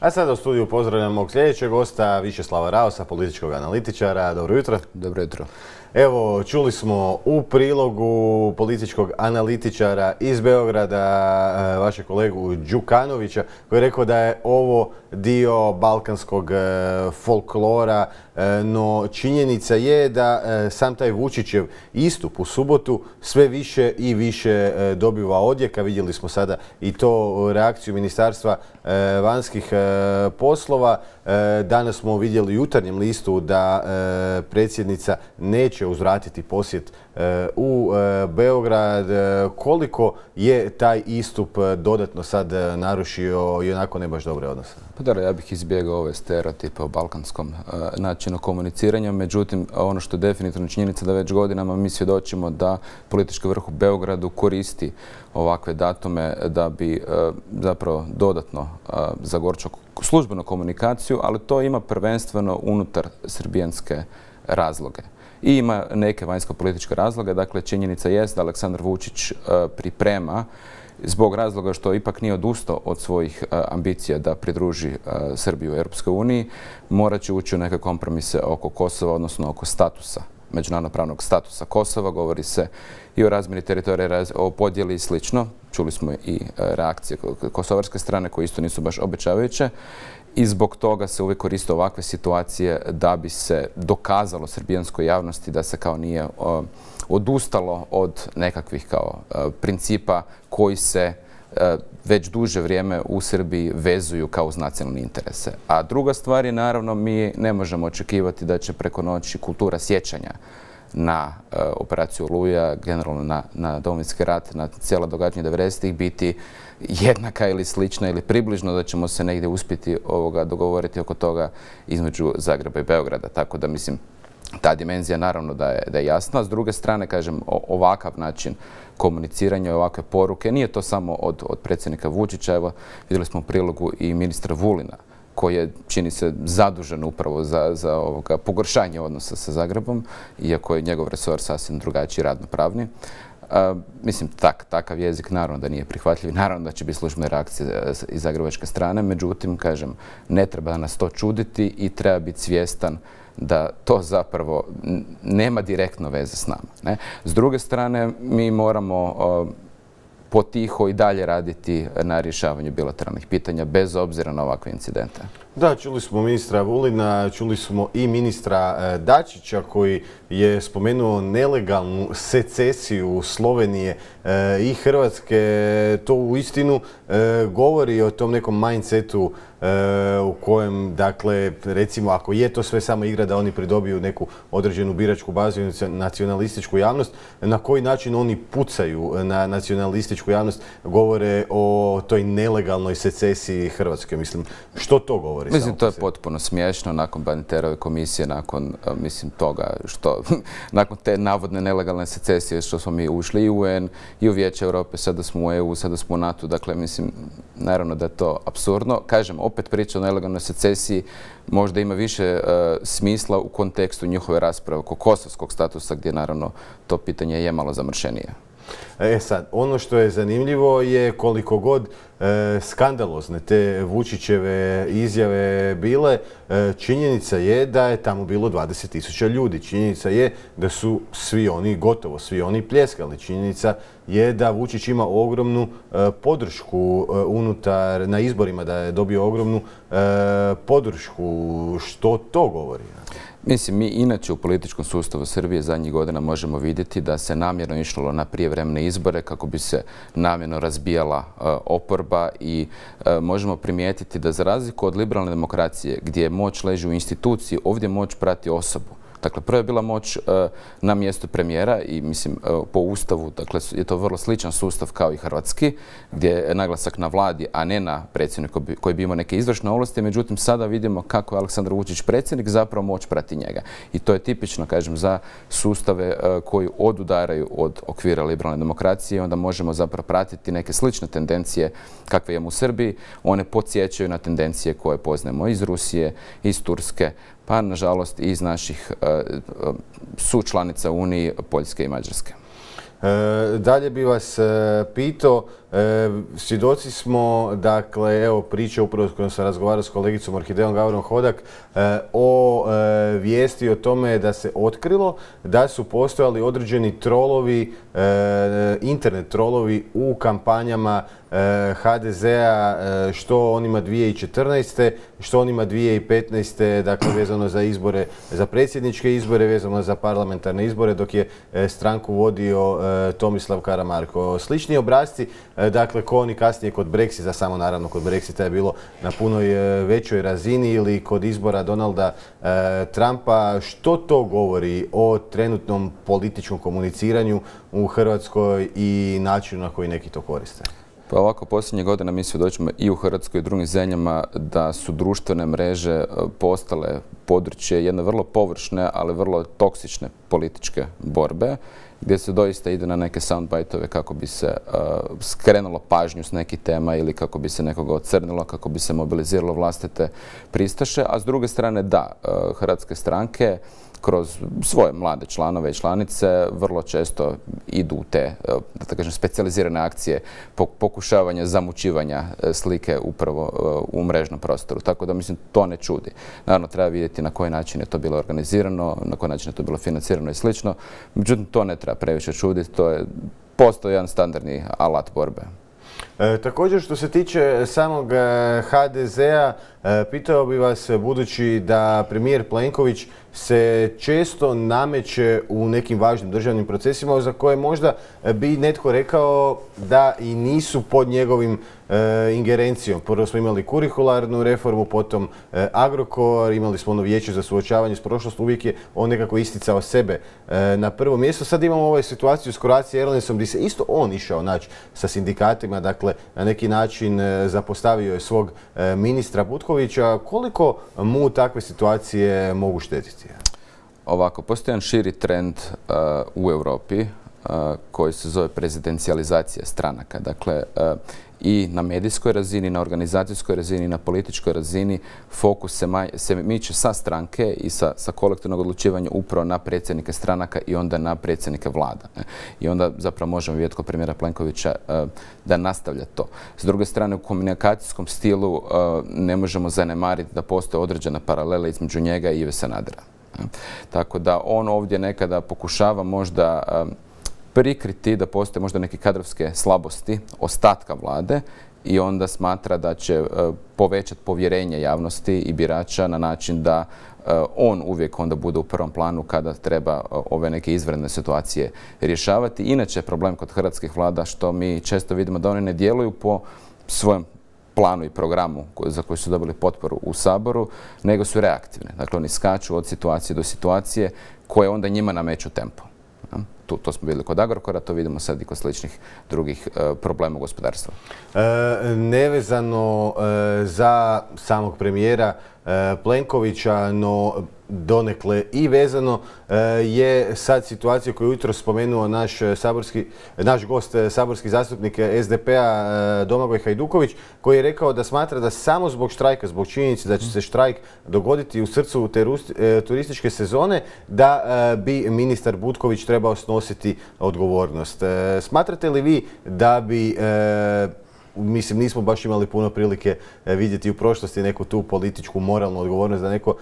A sada u studiju pozdravljam mog sljedećeg gosta, Višeslava Raosa, političkog analitičara. Dobro jutro. Dobro jutro. Evo, čuli smo u prilogu političkog analitičara iz Beograda, vašeg kolegu Đukanovića, koji je rekao da je ovo dio balkanskog folklora, no činjenica je da sam taj Vučićev istup u subotu sve više i više dobiva odjeka. Vidjeli smo sada i to reakciju Ministarstva vanjskih poslova. Danas smo vidjeli u Jutarnjem listu da predsjednica neće uzvratiti posjet u Beograd. Koliko je taj istup dodatno sad narušio i onako ne baš dobre odnose? Pa da, ja bih izbjegao ove stereotipe o balkanskom načinu komuniciranja. Međutim, ono što je definitivno činjenica da već godinama mi svjedočimo da politički vrh u Beogradu koristi ovakve datume da bi zapravo dodatno zagorčao službenu komunikaciju, ali to ima prvenstveno unutar srbijanske razloge. I ima neke vanjsko-političke razloge. Dakle, činjenica jest da Aleksandar Vučić priprema zbog razloga što ipak nije odustao od svojih ambicija da pridruži Srbiju u Europskoj uniji, morat će ući u neke kompromise oko Kosova, odnosno oko statusa, međunarodno-pravnog statusa Kosova. Govori se i o razmjeni teritorija, o podjeli i slično. Čuli smo i reakcije kosovarske strane koje isto nisu baš obećavajuće. I zbog toga se uvijek koriste ovakve situacije da bi se dokazalo srbijanskoj javnosti da se kao nije odustalo od nekakvih kao principa koji se već duže vrijeme u Srbiji vezuju kao uz nacionalne interese. A druga stvar je, naravno, mi ne možemo očekivati da će preko noći kultura sjećanja na operaciju Oluja, generalno na Domovinski rat, na cijela događanja 90-ih biti jednaka ili slična ili približno, da ćemo se negdje uspjeti dogovoriti oko toga između Zagreba i Beograda. Tako da, mislim, ta dimenzija naravno da je jasna. S druge strane, kažem, ovakav način komuniciranja, ovakve poruke, nije to samo od predsjednika Vučića. Evo, vidjeli smo u prilogu i ministra Vulina, koji je, čini se, zadužen upravo za pogoršanje odnosa sa Zagrebom, iako je njegov resor sasvim drugačiji, radno-pravni. Mislim, takav jezik naravno da nije prihvatljiv, naravno da će biti službene reakcije iz zagrebačke strane, međutim, kažem, ne treba nas to čuditi i treba biti svjestan da to zapravo nema direktno veze s nama, ne? S druge strane, mi moramo potiho i dalje raditi na rješavanju bilateralnih pitanja bez obzira na ovakve incidente. Da, čuli smo ministra Vulina, čuli smo i ministra Dačića koji je spomenuo nelegalnu secesiju Slovenije i Hrvatske. To uistinu govori o tom nekom mindsetu u kojem, dakle, recimo, ako je to sve samo igra da oni pridobiju neku određenu biračku bazu i nacionalističku javnost, na koji način oni pucaju na nacionalističku javnost, govore o toj nelegalnoj secesiji Hrvatske. Mislim, što to govori? Mislim, to je potpuno smiješno nakon Baniterove komisije, nakon, mislim, toga što, nakon te navodne nelegalne secesije što smo mi ušli i u UN i u Vijeće Europe, sada smo u EU, sada smo u NATO, dakle, mislim, naravno da je to apsurdno. Kažem, opet priča o nelegalnoj secesiji možda ima više smisla u kontekstu njihove rasprave oko kosovskog statusa, gdje naravno to pitanje je malo zamršenije. Sad, ono što je zanimljivo je koliko god skandalozne te Vučićeve izjave bile, činjenica je da je tamo bilo 20.000 ljudi. Činjenica je da su svi oni, gotovo svi oni, pljeskali. Činjenica je da Vučić ima ogromnu podršku unutar, na izborima, da je dobio ogromnu podršku. Što to govori? Mislim, mi inače u političkom sustavu Srbije zadnjih godina možemo vidjeti da se namjerno išlo na prijevremene izbore kako bi se namjerno razbijala oporba i možemo primijetiti da za razliku od liberalne demokracije gdje moć leži u instituciji, ovdje moć prati osobu. Dakle, prvo je bila moć na mjestu premijera i, mislim, po Ustavu, dakle, je to vrlo sličan sustav kao i hrvatski, gdje je naglasak na vladi, a ne na predsjedniku koji bi imao neke izvršne ovlasti. Međutim, sada vidimo kako je Aleksandar Vučić predsjednik, zapravo moć prati njega. I to je tipično, kažem, za sustave koji odudaraju od okvira liberalne demokracije. Onda možemo zapravo pratiti neke slične tendencije kakve imamo u Srbiji. One podsjećaju na tendencije koje poznajemo iz Rusije, iz Turske, pa nažalost i iz naših sučlanica Uniji, Poljske i Mađarske. Dalje bi vas pitao, svjedoci smo, dakle, evo priče upravo s kojom sam razgovarao s kolegicom Orhidejom Gavrom Hodak o vijesti o tome da se otkrilo da su postojali određeni trolovi, internet trolovi u kampanjama HDZ-a, što on ima 2014. što on ima 2015. dakle vezano za izbore, za predsjedničke izbore, vezano za parlamentarne izbore, dok je stranku vodio Tomislav Karamarko. Slični obrasci, dakle, ko oni kasnije kod Brexita, samo naravno kod Brexita je bilo na punoj većoj razini, ili kod izbora Donalda Trumpa. Što to govori o trenutnom političkom komuniciranju u Hrvatskoj i načinu na koji neki to koriste? Pa ovako, posljednje godina mi svjedočimo i u Hrvatskoj i u drugim zemljama da su društvene mreže postale područje jedne vrlo površne, ali vrlo toksične političke borbe, gdje se doista ide na neke soundbite-ove kako bi se skrenulo pažnju s nekih tema ili kako bi se nekoga ocrnilo, kako bi se mobiliziralo vlastite pristaše, a s druge strane da, hrvatske stranke kroz svoje mlade članove i članice vrlo često idu u te, da kažem, specijalizirane akcije pokušavanja zamućivanja slike upravo u mrežnom prostoru. Tako da, mislim, to ne čudi. Naravno, treba vidjeti na koji način je to bilo organizirano, na koji način je to bilo financirano i slično. Međutim, to ne treba previše čuditi. Postoji jedan standardni alat borbe. Također, što se tiče samog HDZ-a, pitao bi vas, budući da premijer Plenković se često nameće u nekim važnim državnim procesima za koje možda bi netko rekao da i nisu pod njegovim ingerencijom. Prvo smo imali kurikularnu reformu, potom Agrokor, imali smo ono vijeće za suočavanje s prošlosti, uvijek je on nekako isticao sebe na prvo mjesto. Sad imamo ovu situaciju s Croatia Airlinesom gdje se isto on išao naći sa sindikatima, dakle na neki način zapostavio je svog ministra Butkovića. Koliko mu takve situacije mogu štetiti? Ovako, postoji jedan širi trend u Europi koji se zove prezidencijalizacija stranaka. Dakle, i na medijskoj razini, na organizacijskoj razini, na političkoj razini fokus se miče sa stranke i sa kolektivnog odlučivanja upravo na predsjednike stranaka i onda na predsjednike vlada. I onda zapravo možemo vidjeti kod premijera Plenkovića da nastavlja to. S druge strane, u komunikacijskom stilu ne možemo zanemariti da postoje određena paralela između njega i Ive Sanadera. Tako da on ovdje nekada pokušava možda prikriti da postoje možda neke kadrovske slabosti ostatka vlade i onda smatra da će povećati povjerenje javnosti i birača na način da on uvijek onda bude u prvom planu kada treba ove neke izvanredne situacije rješavati. Inače je problem kod hrvatskih vlada što mi često vidimo da one ne djeluju po svojem planu i programu za koji su dobili potporu u Saboru, nego su reaktivne. Dakle, oni skaču od situacije do situacije koje onda njima nameću tempo. To smo vidjeli kod Agrokora, to vidimo sad i kod sličnih drugih problema u gospodarstvu. Nevezano za samog premijera Plenkovića, no donekle i vezano je sad situacija koju je jutro spomenuo naš gost, saborski zastupnik SDP-a Domagoj Hajduković, koji je rekao da smatra da samo zbog štrajka, zbog činjenice da će se štrajk dogoditi u srcu turističke sezone, da bi ministar Butković trebao snositi odgovornost. Smatrate li vi da bi, mislim, nismo baš imali puno prilike vidjeti u prošlosti neku tu političku, moralnu odgovornost da neko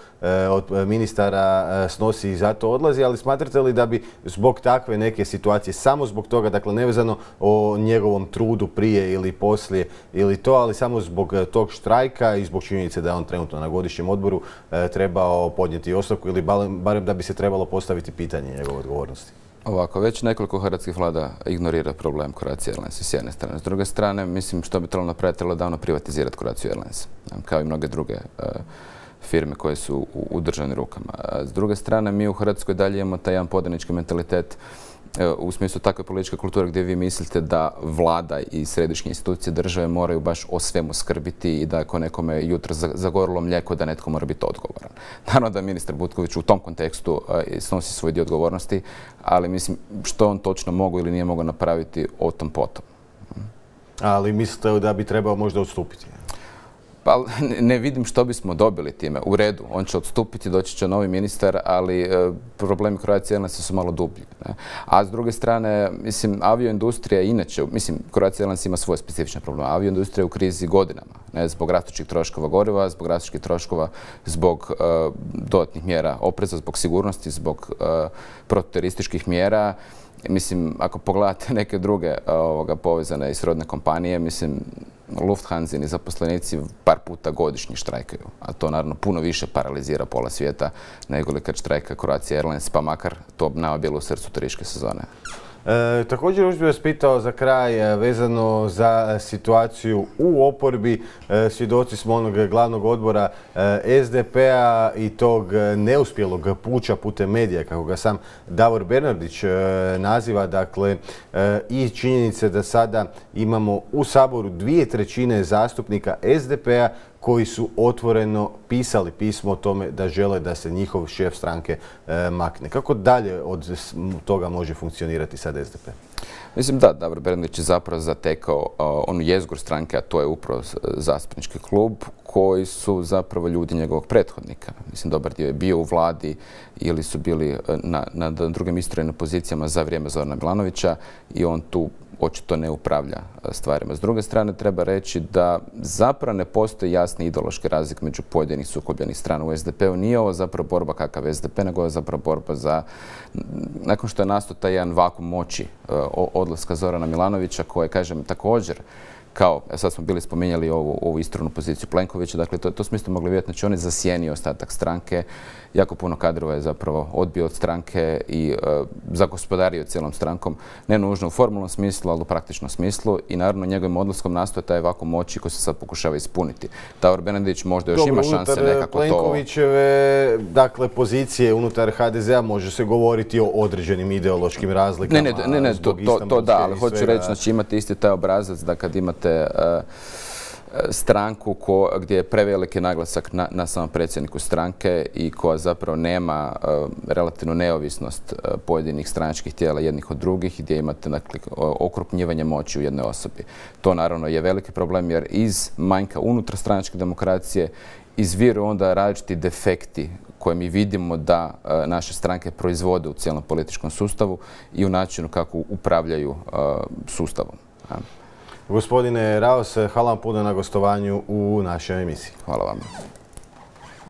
od ministara snosi i zato odlazi, ali smatrate li da bi zbog takve neke situacije, samo zbog toga, dakle nevezano o njegovom trudu prije ili poslije ili to, ali samo zbog tog štrajka i zbog činjenice da je on trenutno na godišnjem odboru trebao podnijeti ostavku ili barem da bi se trebalo postaviti pitanje njegove odgovornosti? Ovako, već nekoliko hrvatskih vlada ignorira problem Croatia Airlines s jedne strane. S druge strane, mislim što bi trebalo napraviti, trebalo davno privatizirati Croatia Airlines, kao i mnoge druge firme koje su u državnim rukama. S druge strane, mi u Hrvatskoj dalje imamo taj jedan podanički mentalitet u smislu takve političke kulture gdje vi mislite da vlada i središnje institucije države moraju baš o svemu skrbiti i da ako nekome jutro zagorilo mlijeko da netko mora biti odgovoran. Naravno da ministar Butković u tom kontekstu snosi svoj dio odgovornosti, ali mislim što on točno mogu ili nije mogao napraviti o tom potom. Ali mislite da bi trebao možda odstupiti? Pa ne vidim što bismo dobili time. U redu, on će odstupiti, doći će novi ministar, ali problemi Croatia Airlinesa su malo dublji. Ne? A s druge strane, mislim, avioindustrija inače, mislim, Croatia Airlines ima svoje specifične probleme. Avioindustrija je u krizi godinama, ne? Zbog rastućih troškova goriva, zbog rastućih troškova, zbog dodatnih mjera opreza, zbog sigurnosti, zbog protuterorističkih mjera. Mislim, ako pogledate neke druge povezane i srodne kompanije, mislim, Lufthansini zaposlenici par puta godišnje štrajkaju, a to naravno puno više paralizira pola svijeta nego li kad štrajka Croatia Airlines, pa makar to nama bilo u srcu turističke sezone. Također još bih vas pitao za kraj vezano za situaciju u oporbi. Svjedoci smo onog glavnog odbora SDP-a i tog neuspjelog puča putem medija, kako ga sam Davor Bernardić naziva. Dakle, i činjenice da sada imamo u Saboru 2/3 zastupnika SDP-a koji su otvoreno pisali pismo o tome da žele da se njihov šef stranke makne. Kako dalje od toga može funkcionirati sad SDP? Mislim da, Davor Bernardić je zapravo zatekao onu jezgru stranke, a to je upravo zastupnički klub, koji su zapravo ljudi njegovog prethodnika. Mislim, dobar dio je bio u vladi ili su bili na drugim istrojenim pozicijama za vrijeme Zorana Milanovića i on tu očito ne upravlja stvarima. S druge strane, treba reći da zapravo ne postoji jasni ideološki razlik među pojedinih sukobljenih strana u SDP-u. Nije ovo zapravo borba kakav SDP, nego je zapravo borba za, nakon što je nastao taj jedan vakuum moći odlaska Zorana Milanovića, koje, kažem, također kao, sad smo bili spominjali ovu istronu poziciju Plenkovića, dakle to smo isto mogli vidjeti, znači on je zasjenio ostatak stranke, jako puno kadrova je zapravo odbio od stranke i zagospodario cijelom strankom, ne nužno u formalnom smislu, ali u praktičnom smislu i naravno njegovim odlaskom nastoje taj vakuum moći koji se sad pokušava ispuniti. Davor Bernardić možda još ima šanse nekako to... Plenkovićeve, dakle, pozicije unutar HDZ-a može se govoriti o određenim ideološkim razlikama. Ne, to da, ali hoću reći, znači imate isti taj obrazac da kad imate stranku gdje je preveliki naglasak na samom predsjedniku stranke i koja zapravo nema relativnu neovisnost pojedinih stranačkih tijela jednih od drugih, gdje imate okrupnjivanje moći u jednoj osobi. To naravno je veliki problem jer iz manjka unutar stranačke demokracije izviru onda različiti defekti koje mi vidimo da naše stranke proizvode u cijelom političkom sustavu i u načinu kako upravljaju sustavom. Gospodine Raos, hvala vam puno na gostovanju u našoj emisiji. Hvala vam.